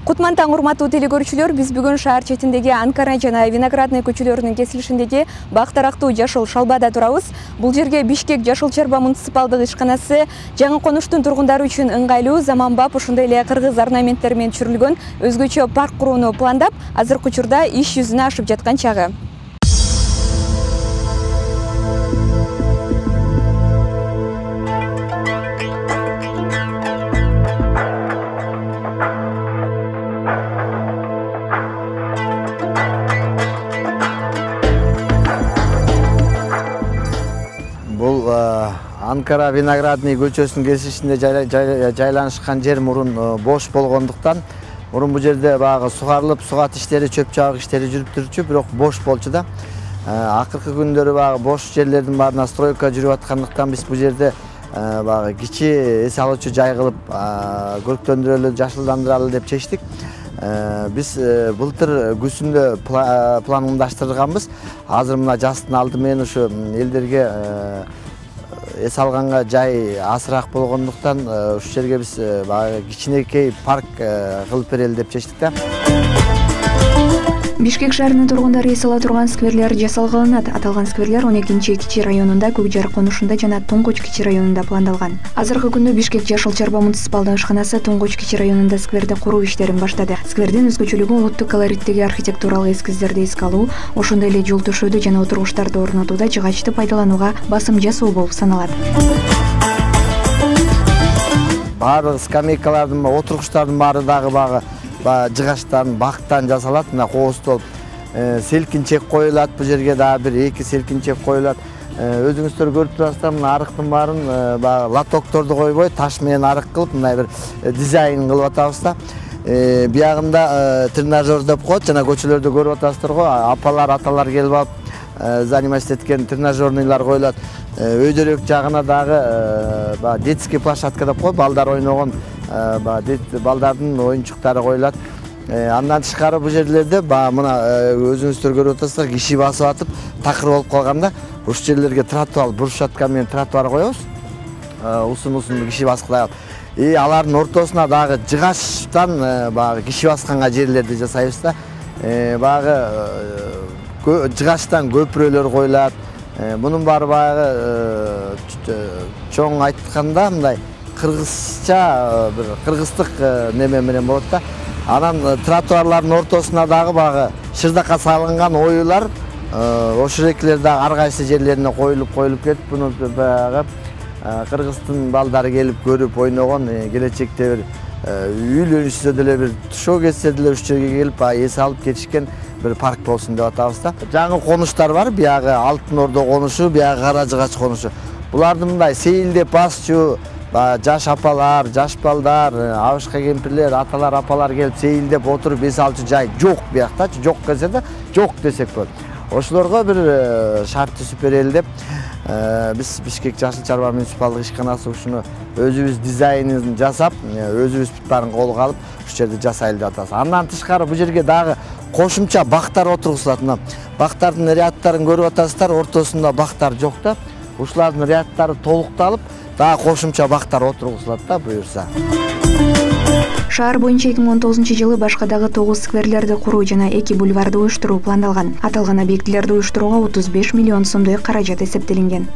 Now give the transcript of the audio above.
Кутман таң урматтуу телекөрүүчүлөр, биз бүгүн шаар четиндеги Анкара жана Виноградный көчөлөрүнүн кесилишиндеги бак дарактуу жашыл шалбада турабыз. Бул жерге Бишкек Жашыл Чарба муниципалдык ишканасы жаңы конуштун тургундары үчүн ыңгайлуу, заманбап, ошондой эле кыргыз орнаменттери менен түшүрүлгөн өзгөчө парк курууну пландап, азыркы учурда иш жүзүнө ашып жаткан чагы. Бул Анкара Виноградный көчөсүнүн кесишинде жайланышкан жер мурун бош болгондуктан, мурун бул жерде багы сугарылып, сугат иштери, чөп чабык иштери жүрүп турчу, бирок бош болчу да. Акыркы күндөрү багы бош жерлердин баарына стройка жүрүп аткандыктан биз бул жерде багы кичи эс алуучу жай кылып көрктөндүрөлү, жашылдандыралы деп чечтик. Биз былтыр күзүндө пландаштырганбыз. Азыр мына жастын алды менен ушу элдерге эс алганга жай азыраак болгондуктан ушул жерге биз кичинекей парк кылып берели деп чечтик да. Бишкек шаарынын тургундары эс ала турган скверлер жасалгаланат. Аталган скверлер 12-кичи районунда, Көкжар конушунда жана Туңгуч кичи районунда пландалган. Азыркы күндө Бишкек Жашыл Чарба муниципалдык ишканасы Туңгуч кичи районунда скверди куруу иштерин баштады. Сквердин өзгөчөлүгү улуттук колориттеги архитектуралык эскиздерди эске алуу, ошондой эле жол төшөөдү жана отургучтарды орнотууда жыгачты пайдаланууга басым жасоо болуп саналат. Баардык скамейкалардын, отургучтардын баары дагы жыгачтан, бактан жасалат. Мына кооздолуп селкинчек коюлат, бул жерге дагы 1-2 селкинчек коюлат. Өзүңүздөр көрүп турасыздар, мына арыктын баарын лотокторду койбой, таш менен арык кылып, мындай бир дизайн кылып атабыз да. Биягында тренажер деп коет, жана көчөлөрдө көрүп атасыздар го, апалар, аталар келип алып заниматься эткен тренажерныйлар коюлат. Өйдөрөк жагына дагы детский площадка деп коет, балдар ойногон балдардын оюнчуктары коюлат. Андан тышкары бул жерлерде мына өзүңүздөр көрүп атасыздар, киши басып атып, такыр болуп калганда, ушул жерлерге тротуар, брусчатка менен тротуар коебуз. Узун киши баскылай алып. Алардын ортосуна дагы жыгачтан киши басканга жерлерди жасайбыз да. Жыгачтан көпүрөлөр коюлат. Мунун баары чоң айтканда мындай кыргызча бир кыргыздык неме менен болот да. Анан тротуарлардын ортосуна дагы шырдакка салынган оюлар, ошол экилер дагы ар кайсы жерлерине коюлуп кетип, буну кыргыздын балдары келип көрүп ойногон, келечекте бир үйлөнүшсө деле бир тушоо кетсе деле ушул жерге келип эс алып кетишкен бир парк болсун деп атабыз да. Жаңы конуштар бар, биягы Алтын Ордо конушу, биягы Кара Жыгач конушу. Булардын мындай сейилдеп басчу жаш апалар, жаш балдар, абышка кемпирлер, аталар, апалар келип сейилдеп отуруп эс алчу жай жок биякта, жок келсе да, жок десек болот. Ошолорго бир шарт түзүп берели деп биз Бишкек Жашыл Чарба муниципалдык ишканасы ушуну өзүбүз дизайнын жасап, өзүбүз баарын колго алып, ушул жерде жасайлы деп атабыз. Андан тышкары бул жерге дагы кошумча бактар отургузулат. Мына бактардын ряддарын көрүп атасыздар, ортосунда бактар жок да. Ушулардын ряддары толукталып, дагы кошумча бактар отургузулат да буюрса. Шаар боюнча 2019-жылы башка дагы 9 скверлерди куруу жана 2 бульварды уюштуруу пландалган. Аталган объектилерди уюштурууга 35 миллион сомдой каражат эсептелинген.